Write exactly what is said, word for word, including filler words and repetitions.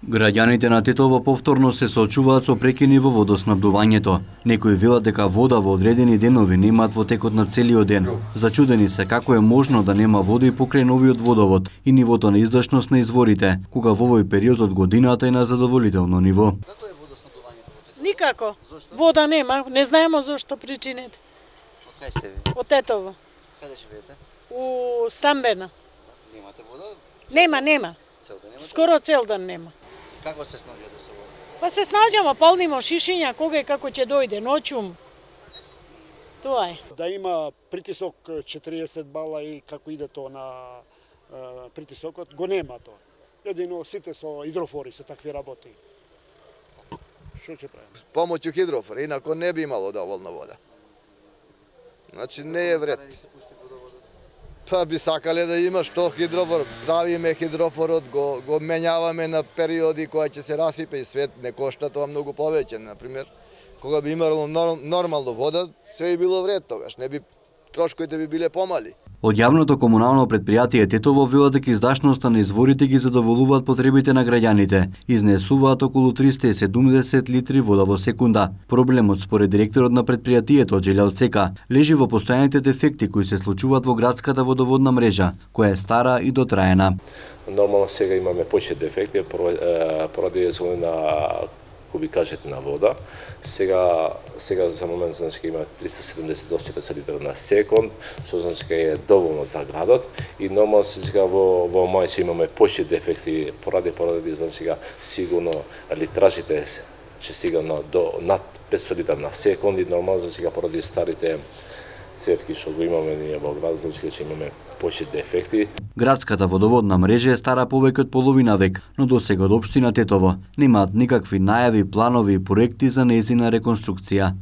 Граѓаните на Тетово повторно се соочуваат со прекини во водоснабдувањето. Некои велат дека вода во одредени денови немаат во текот на целиот ден. Зачудени се како е можно да нема вода и покрај новиот водовод и нивото на издашност на изворите, кога во овој период од годината е на задоволително ниво. Како е водоснабдувањето во Тетово? Никако. Зошто? Вода нема, не знаеме зошто причините. Од кај сте ви? Од Тетово. Каде живеете? У Стамбена. Немате вода? Нема, нема. Цел ден немате? Скоро цел ден нема. Како се снаđате со вода? Па се снаđamo, полнимо шишиња, кога и како ќе дојде, ноќум. Тоа е. Да има притисок четириесет бала и како иде тоа на е, притисокот, го нема тоа. Едино сите со хидрофори се такви работи. Што ќе правиме? Помоќу хидрофори, инако не би имало доволно вода. Значи не е вред. Па би сакале да има што хидрофор, правиме хидрофорот, го, го менјаваме на периоди која ќе се расипе и свет не кошта тоа многу повеќе, например. Кога би имало нормално вода, све би било вред тогаш, не би трошковите би биле помали. Од јавното комунално предпријатие Тетово велат дека издашноста на изворите ги задоволуваат потребите на граѓаните. Изнесуваат околу триста и седумдесет литри вода во секунда. Проблемот според директорот на предпријатието Џелјал Цека лежи во постојаните дефекти кои се случуваат во градската водоводна мрежа, која е стара и дотраена. Нормално сега имаме повеќе дефекти поради на кубикажите на вода. Сега сега за момент значи има триста седумдесет до четириесет литра на секунд, што значи е доволно за градот и нормално сега во во мај имаме повеќе дефекти поради поради значи сигурно литражите ќе стига на до над петстотини литра на секунд и нормално значи поради старите цевки што го имаме ние во град, значи ќе имаме повеќе дефекти. Градската водоводна мрежа е стара повеќе од половина век, но досега од општина Тетово немаат никакви најави, планови и проекти за нејзина реконструкција.